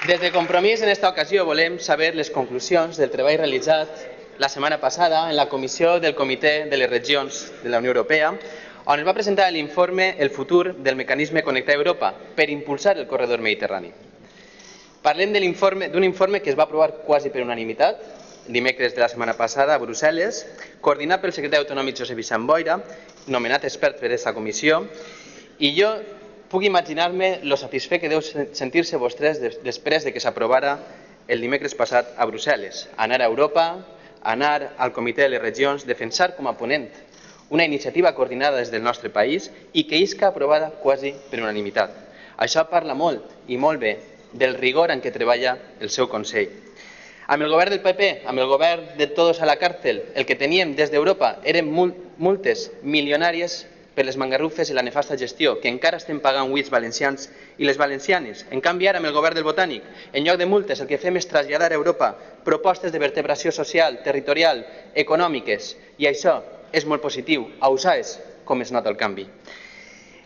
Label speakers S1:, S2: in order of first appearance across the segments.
S1: Des de Compromís, en esta ocasió, volem saber les conclusions del treball realitzat la setmana passada en la comissió del Comitè de les Regions de la Unió Europea, on es va presentar l'informe El futur del mecanisme Connectar Europa per impulsar el corredor mediterrani. Parlem d'un informe que es va aprovar quasi per unanimitat, dimecres de la setmana passada a Brussel·les, coordinat pel secretari autonòmic Josep Vicent Boira, nomenat expert per aquesta comissió, i jo puc imaginar-me lo satisfet que deu sentir-se vostès després de que s'aprovara el dimecres passat a Brussel·les. Anar a Europa, anar al Comitè de les Regions, defensar com a ponent una iniciativa coordinada des del nostre país i que isca aprovada quasi per unanimitat. Això parla molt i molt bé del rigor en què treballa el seu Consell. Amb el govern del PP, amb el govern de todos a la càrcel, el que teníem des d'Europa eren multes milionàries per les mangarrufes i la nefasta gestió que encara estem pagant avui els valencians i les valencianes. En canvi, ara amb el govern del Botànic, en lloc de multes, el que fem és traslladar a Europa propostes de vertebració social, territorial, econòmiques, i això és molt positiu. A USAES, com es nota el canvi.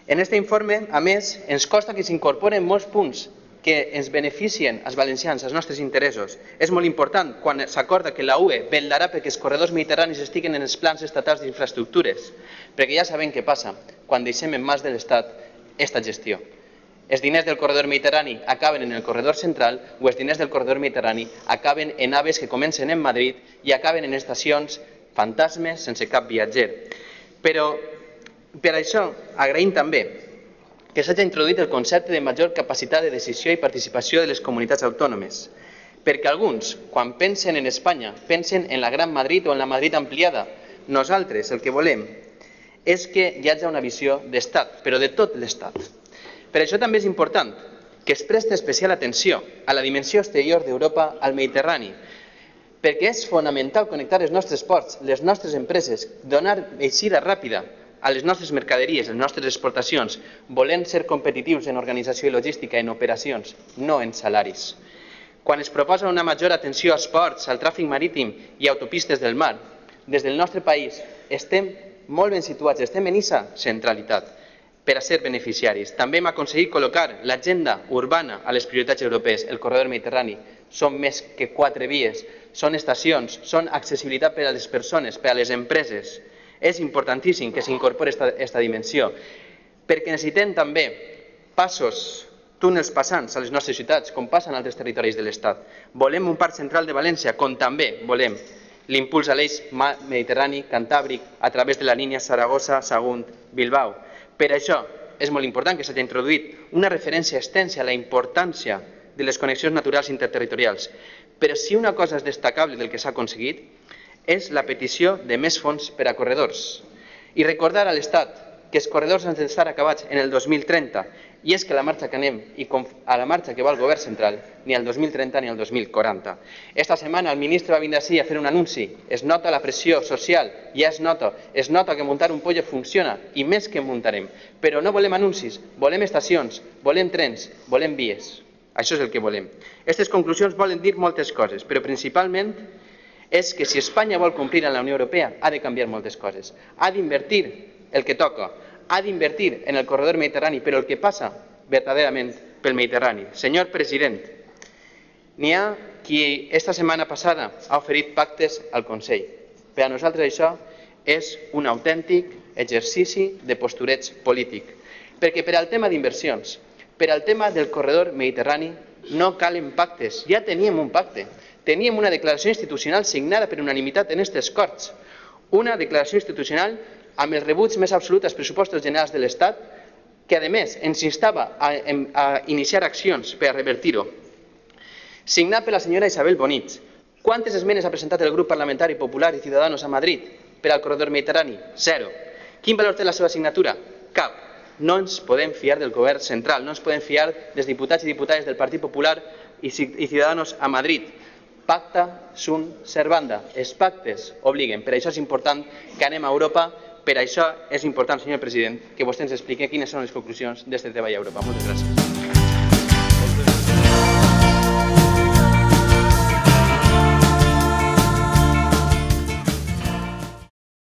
S1: En aquest informe, a més, ens costa que s'incorporen molts punts que ens beneficien als valencians, als nostres interessos. És molt important quan s'acorda que la UE vetllarà perquè els corredors mediterranis estiguen en els plans estatals d'infraestructures, perquè ja sabem què passa quan deixem en mans de l'Estat aquesta gestió. Els diners del corredor mediterrani acaben en el corredor central o els diners del corredor mediterrani acaben en aves que comencen en Madrid i acaben en estacions fantasmes sense cap viatger. Però per això agraïm també que s'hagi introduït el concepte de major capacitat de decisió i participació de les comunitats autònomes, perquè alguns, quan pensen en Espanya, pensen en la Gran Madrid o en la Madrid ampliada. Nosaltres el que volem és que hi hagi una visió d'estat, però de tot l'estat. Per això també és important que es presti especial atenció a la dimensió exterior d'Europa al Mediterrani, perquè és fonamental connectar els nostres ports, les nostres empreses, donar eixida ràpida a les nostres mercaderies, les nostres exportacions, volent ser competitius en organització i logística, en operacions, no en salaris. Quan es proposa una major atenció als ports, al tràfic marítim i autopistes del mar, des del nostre país estem molt ben situats, estem en aquesta centralitat per a ser beneficiaris. També hem aconseguit col·locar l'agenda urbana a les prioritats europees. El corredor mediterrani són més que 4 vies, són estacions, són accessibilitat per a les persones, per a les empreses. És importantíssim que s'incorpori aquesta dimensió, perquè necessitem també passos, túnels passants a les nostres ciutats, com passen a altres territoris de l'Estat. Volem un parc central de València, com també volem l'impuls a l'eix mediterrani, cantàbric, a través de la línia Saragossa-Sagunt-Bilbao. Per això és molt important que s'hagi introduït una referència extensa a la importància de les connexions naturals interterritorials. Però si una cosa és destacable del que s'ha aconseguit és la petició de més fons per a corredors. I recordar a l'Estat que els corredors han d'estar acabats en el 2030, i és que la marxa que anem i a la marxa que va el govern central, ni el 2030 ni el 2040. Esta setmana el ministre va vindre així a fer un anunci. Es nota la pressió social, ja es nota que muntar un pollo funciona, i més que muntarem. Però no volem anuncis, volem estacions, volem trens, volem vies. Això és el que volem. Aquestes conclusions volen dir moltes coses, però principalment és que si Espanya vol complir en la Unió Europea ha de canviar moltes coses. Ha d'invertir el que toca, ha d'invertir en el corredor mediterrani, però el que passa verdaderament pel Mediterrani. Senyor president, n'hi ha qui esta setmana passada ha oferit pactes al Consell. Per a nosaltres això és un autèntic exercici de postureig polític, perquè per al tema d'inversions, per al tema del corredor mediterrani no calen pactes, ja teníem un pacte. Teníem una declaració institucional signada per unanimitat en aquestes Corts, una declaració institucional amb el rebuig més absolut als pressupostos generals de l'Estat, que a més ens instava a iniciar accions per a revertir-ho. Signat per la senyora Isabel Bonich. Quantes esmenes ha presentat el grup parlamentari Popular i Ciudadanos a Madrid per al corredor mediterrani? 0. Quin valor té la seva signatura? Cap. No ens podem fiar del govern central, no ens podem fiar dels diputats i diputades del Partit Popular i Ciudadanos a Madrid. Pacta sunt servanda. Els pactes obliguen. Per això és important que anem a Europa. Per això és important, senyor president, que vostè ens expliqui quines són les conclusions d'aquest treball a Europa. Moltes gràcies.